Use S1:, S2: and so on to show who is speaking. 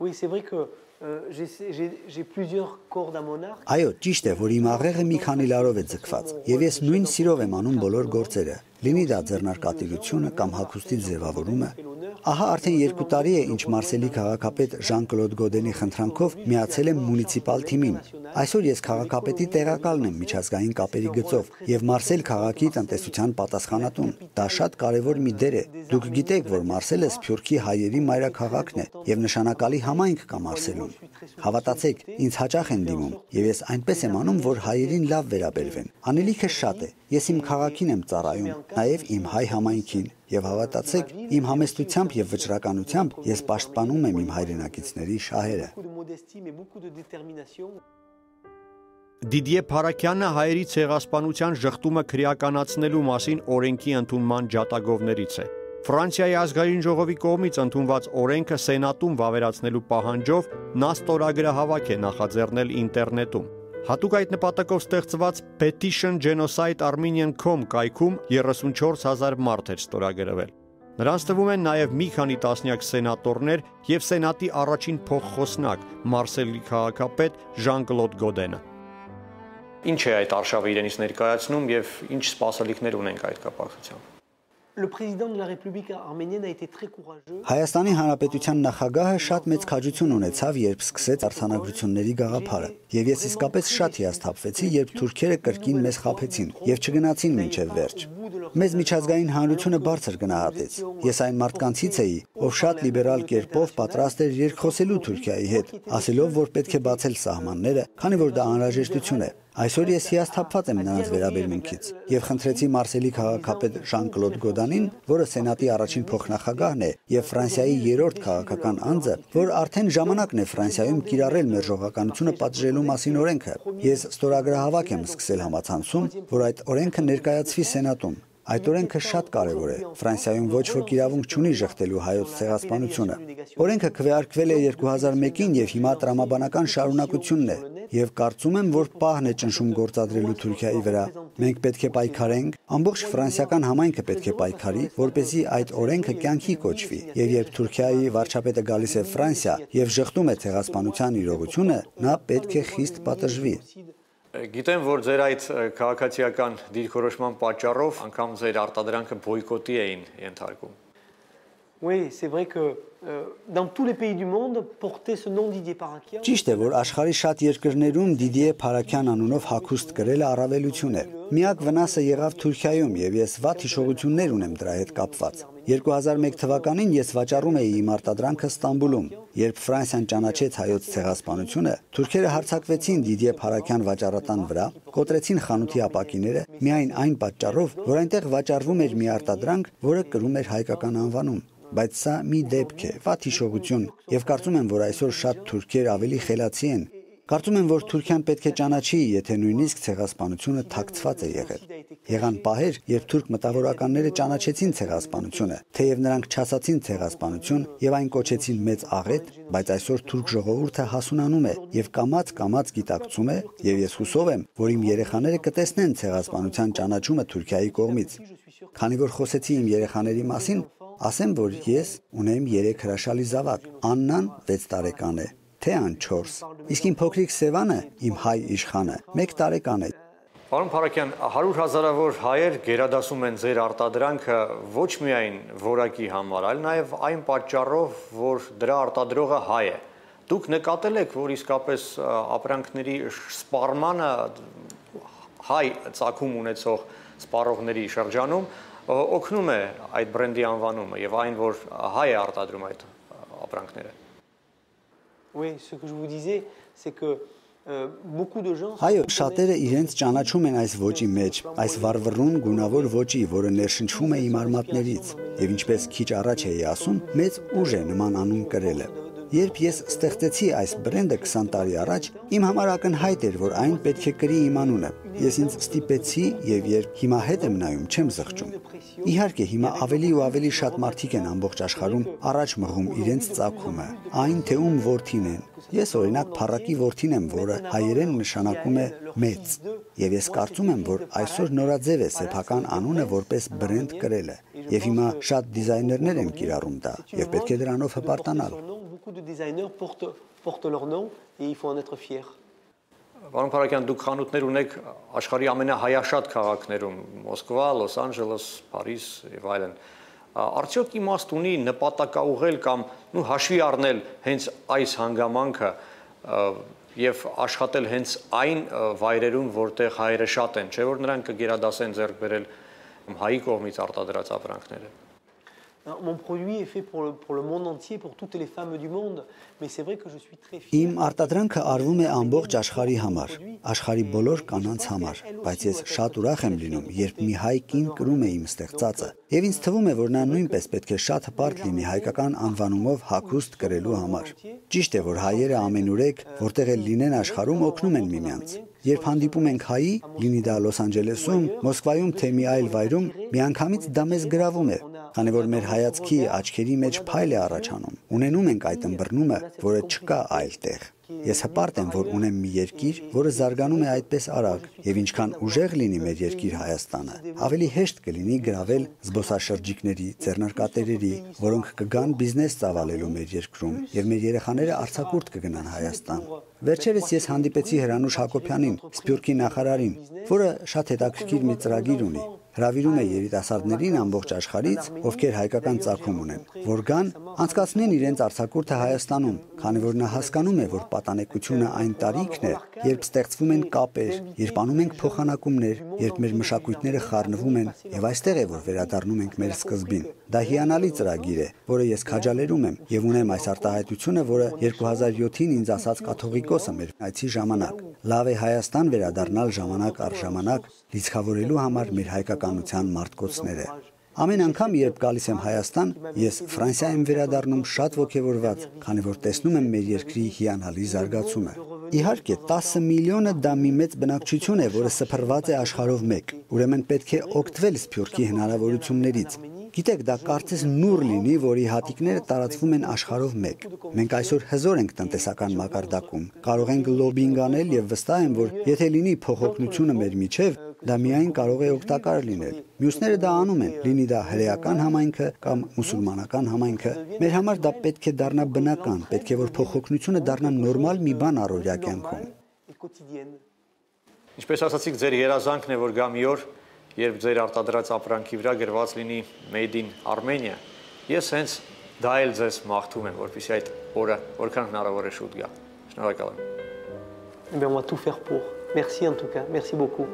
S1: Oui, c'est vrai que j'ai plusieurs cordes à mon arc.
S2: Այո, ճիշտ է, որ իմ աղեղը մի քանի լարով է ձգված, եւ ես նույն սիրով եմ անում բոլոր գործերը, լինի դա ձեռնարկատիրությունը կամ հագուստի ձևավորումը։ Ահա արդեն 2 տարի է, ինչ Մարսելի քաղաքապետ Ժան-Կլոդ Գոդենի խնդրանքով միացել եմ մունիցիպալ թիմին։ Այսօր ես քաղաքապետի տեղակալն եմ միջազգային կապերի գծով եւ Մարսել քաղաքի տնտեսության պատասխանատուն։ Դա շատ կարեւոր մի դեր է։ Դուք գիտեք, որ Մարսելը Սփյուռքի հայերի մայրաքաղաքն է եւ նշանակալի համայնք կա Մարսելում։ Հավատացեք, ինձ հաճախ են դիմում եւ ես այնպես եմ անում, որ հայերին լավ վերաբերվեն։ Անելիքը շատ է։ Ես իմ քաղաքին եմ ծառայում, նաեւ իմ հայ համայնքին եւ հավատացեք, իմ համեստությամբ եւ վճռականությամբ ես պաշտպանում եմ իմ հայրենակիցների շահերը։
S3: Դիդիե Փարաքյանը հայերի ցեղասպանության ժխտումը քրեականացնելու մասին օրենքի ընդունման ջատագովներից է։ Ֆրանսիայի ազգային ժողովի կողմից ընդունված օրենքը սենատում վավերացնելու պահանջով նա ստորագրահավաք է նախաձեռնել ինտերնետում։ Հատուկ այդ նպատակով ստեղծված Petition Genocide Armenian.com կայքում 34,000 մարդ էր ստորագրվել։ Նրանց թվում են նաև մի քանի տասնյակ սենատորներ եւ սենատի առաջին փոխխոսնակ Մարսելի քաղաքապետ Ժան-Կլոդ Գոդենը։ Ինչ է այդ արշավը իրենից ներկայացնում եւ ինչ սպասելիքներ ունենք այդ կապակցությամբ։
S1: Le président de la République arménienne a été très courageux.
S2: Հայաստանի Հանրապետության նախագահը շատ մեծ քաջություն ունեցավ, երբ սկսեց արձանագրությունների գաղափարը, եւ ես իսկապես շատ հիասթափվեցի, երբ թուրքերը կրկին մեզ խաբեցին եւ չգնացին մինչեւ վերջ։ Մեզ միջազգային հանրությունը բարձր գնահատեց։ Ես այն մարդկանցից էի, ով շատ լիբերալ կերպով պատրաստ էր երկխոսելու Թուրքիայի հետ, ասելով, որ պետք է բացել սահմանները, քանի որ դա անհրաժեշտություն է։ Այսօր ես հիասթափված եմ նրանց վերաբերմունքից եւ խնդրեցի Մարսելի քաղաքապետ Ժան-Կլոդ Գոդանին, որը սենատի առաջին փոխնախագահն է եւ Ֆրանսիայի 3-րդ քաղաքական անձը, որ արդեն ժամանակն է Ֆրանսիայում կիրառել մերժողականությունը պատժելու մասին օրենքը։ Ես ստորագրահավաք եմ սկսել համացանցում, որ այդ օրենքը ներկայացվի սենատում։ Այդ օրենքը շատ կարևոր է։ Ֆրանսիայում ոչ ոք իրավունք չունի ժխտելու հայոց ցեղասպանությունը։ Օրենքը քվեարկվել է 2001-ին եւ հիմա տրամաբանական շարունակությունն է։ Եվ կարծում եմ, որ պահն է ճնշում գործադրելու Թուրքիայի վրա։ Մենք պետք է պայքարենք, ամբողջ ֆրանսիական համայնքը պետք է պայքարի, որպեսզի այդ օրենքը կյանքի կոչվի։ Եվ երբ Թուրքիայի վարչապետը գալիս է Ֆրանսիա եւ ժխտում է ցեղասպանության իրողությունը, նա պետք է խիստ պատժվի։
S3: Գիտեմ, որ ձեր այդ քաղաքացիական դիրքորոշման պատճառով անգամ ձեր արտադրանքը բոյկոտի էին ենթարկում։
S1: Oui, c'est vrai que dans tous les pays du monde, porter ce nom Didier Parakian.
S2: Ճիշտ է, որ աշխարհի շատ երկրներում Դիդիե Փարաքյան անունով հագուստ կրելը առավելություն է։ Միակ վնասը եղավ Թուրքիայում եւ ես վատ հիշողություններ ունեմ դրա հետ կապված։ 2001 թվականին ես վաճառում էի իմ արտադրանքը Ստամբուլում։ Երբ Ֆրանսիան ճանաչեց հայոց ցեղասպանությունը, թուրքերը հարձակվեցին Դիդիե Փարաքյան վաճառատան վրա, կոտրեցին խանութի ապակիները միայն այն պատճառով, որ այնտեղ վաճառվում էր մի արտադրանք, որը կրում էր հայկական անվանում։ Բայց սա մի դեպք է, վատ հիշողություն, եւ կարծում եմ, որ այսօր շատ թուրքեր ավելի խելացի են։ Կարծում եմ, որ Թուրքիան պետք է ճանաչի, եթե նույնիսկ ցեղասպանությունը թաքցված է եղել։ Եղան պահեր, երբ թուրք մտավորականները ճանաչեցին ցեղասպանությունը, թեև նրանք չասացին ցեղասպանություն եւ այն կոչեցին մեծ աղետ, բայց այսօր թուրք ժողովուրդը հասունանում է եւ կամաց գիտակցում է, եւ ես հուսով եմ, որ իմ երեխաները կտեսնեն ցեղասպանության ճանաչումը Թուրքիայի կողմից։ Քանի որ խոսեցի իմ երեխաների մասին, ասեմ, որ ես ունեմ 3 հրաշալի զավակ։ Աննան 6 տարեկան է, Թեան 4, իսկ իմ փոքրիկ Սևանը, իմ հայ իշխանը, 1 տարեկան է։
S3: Պարոն Փարաքյան, 100,000-ավոր հայեր գերադասում են ձեր արտադրանքը ոչ միայն որակի համար, այլ նաև այն պատճառով, որ դրա արտադրողը հայ է։ Դուք նկատել եք, որ իսկապես ապրանքների սպառմանը հայ ծագում ունեցող սպառողների շրջանում օգնում է այդ բրենդի անվանումը եւ այն, որ հայ է արտադրում այդ ապրանքները։
S1: Oui, ce que je vous disais, c'est que beaucoup de gens.
S2: Այո, շատերը իրենց ճանաչում են այս ոճի մեջ, այս վառվռուն գունավոր ոճի, որը ներշնչվում է իմ արմատներից, եւ ինչպես քիչ առաջ էի ասում, մեծ ուժ է նման անուն կրելը։ Երբ ես ստեղծեցի այս բրենդը 20 տարի առաջ, իմ համար ակնհայտ էր, որ այն պետք է կրի իմ անունը։ Ես ինձ ստիպեցի եւ երբ հիմա հետ եմ նայում, չեմ զղջում։ Իհարկե, հիմա ավելի ու ավելի շատ մարդիկ են ամբողջ աշխարհում առաջ մղում իրենց ծագումը, այն թե ում որդին են։ Ես օրինակ Փարակի որդին եմ, որը հայերեն նշանակում է մեծ։ Եվ ես կարծում եմ, որ այսօր նորաձև է սեփական անունը որպես բրենդ կրելը։ Եվ հիմա շատ դիզայներներ են կիրառում դա, եւ պետք է դրանով հպարտանալ։
S1: Beaucoup de designers portent leur nom et il faut en être fier.
S3: Պարոն Փարաքյան, դուք խանութներ ունեք աշխարհի ամենահայաշատ քաղաքներում՝ Մոսկվա, Լոս Անջելես, Փարիզ եւ այլն։ Արդյոք իմաստ ունի նպատակաուղղել կամ հաշվի առնել հենց այս հանգամանքը եւ աշխատել հենց այն վայրերում, որտեղ հայերը շատ են, չէ՞ որ նրանք կգերադասեն ձեռք բերել հայի կողմից արտադրած ապրանքները։
S1: Mon produit est fait pour le monde entier, pour toutes les femmes du monde, mais c'est vrai que je suis très fier.
S2: Իմ արտադրանքը արվում է ամբողջ աշխարհի համար, աշխարհի բոլոր կանանց համար, բայց ես շատ ուրախ եմ լինում, երբ մի հայ կին կրում է իմ ստեղծածը, եւ ինձ թվում է, որ նա նույնպես պետք է շատ հպարտ լինի հայկական անվանումով հագուստ կրելու համար։ Ճիշտ է, որ հայերը ամենուրեք, որտեղ էլ լինեն աշխարհում, օգնում են միմյանց։ Երբ հանդիպում ենք հայի, լինի դա Լոս Անջելեսում, Մոսկվայում թե մի այլ վայրում, միանգամից դա մեզ գրավում է, քանի որ մեր հայացքի աչքերի մեջ փայլ է առաջանում։ Ունենում ենք այդ ըմբռնումը, որը չկա այլտեղ։ Ես հպարտ եմ, որ ունեմ մի երկիր, որը զարգանում է այդպես արագ, եւ ինչքան ուժեղ լինի մեր երկիր Հայաստանը, ավելի հեշտ կլինի գրավել զբոսաշրջիկների, ձեռնարկատերերի, որոնք կգան բիզնես ծավալելու մեր երկրում, եւ մեր երեխաները արձակուրդ կգնան Հայաստան։ Վերջերս ես հանդիպեցի Հրանուշ Հակոբյանին, Սփյուռքի նախարարին, որը շատ հետաքրքիր մի ծրագիր ունի։ Հրավիրում է երիտասարդներին ամբողջ աշխարհից, ովքեր հայկական ծագում ունեն, որ գան անցկացնեն իրենց արձակուրդը Հայաստանում, քանի որ նա հասկանում է, որ պատանեկությունը այն տարիքն է, երբ ստեղծվում են կապեր, երբ անում ենք փոխանակումներ, երբ մեր մշակույթները խառնվում են, եւ այստեղ է, որ վերադառնում ենք մեր սկզբին։ Դա հիանալի ծրագիր է, որը ես քաջալերում եմ եւ ունեմ այս արտահայտությունը, որը 2007-ին ինձ ասաց կաթողիկոսը մեր այցի ժամանակ։ Լավ է Հայաստան վերադառնալ ժամանակ առ ժամանակ, լիցքավորելու համար մեր հայկականության մարտկոցները։ Ամեն անգամ, երբ գալիս եմ Հայաստան, ես Ֆրանսիա եմ վերադառնում շատ ոգևորված, քանի որ տեսնում եմ մեր երկրի հիանալի զարգացումը։ Իհարկե, 10 միլիոնը դա մի մեծ բնակչություն է, որը սփռված է աշխարհով մեկ։ Ուրեմն պետք է օգտվել Սփյուռքի հնարավորություններից։ Գիտեք, դա կարծես նուռ լինի, որի հատիկները տարածվում են աշխարհով մեկ։ Մենք այսօր հզոր ենք տնտեսական մակարդակում, կարող ենք լոբինգ անել եւ վստահ եմ, որ եթե լինի փոխօգնությունը մեր միջև, դա միայն կարող է օգտակար լինել։ Մյուսները դա անում են, լինի դա հրեական համայնքը կամ մուսուլմանական համայնքը։ Մեր համար դա պետք է դառնա բնական, պետք է որ փոխօգնությունը դառնա նորմալ մի բան առօրյա կյանքում։
S3: Ինչպես ասացիք, ձեր երազանքն է, որ գա մի օր, երբ ձեր արտադրած ապրանքի վրա գրված լինի Made in Armenia։ Ես հենց դա էլ ձեզ մաղթում եմ, որպեսզի այդ օրը որքան հնարավոր է շուտ գա։ Շնորհակալ եմ։
S1: On va tout faire pour. Merci en tout cas. Merci beaucoup.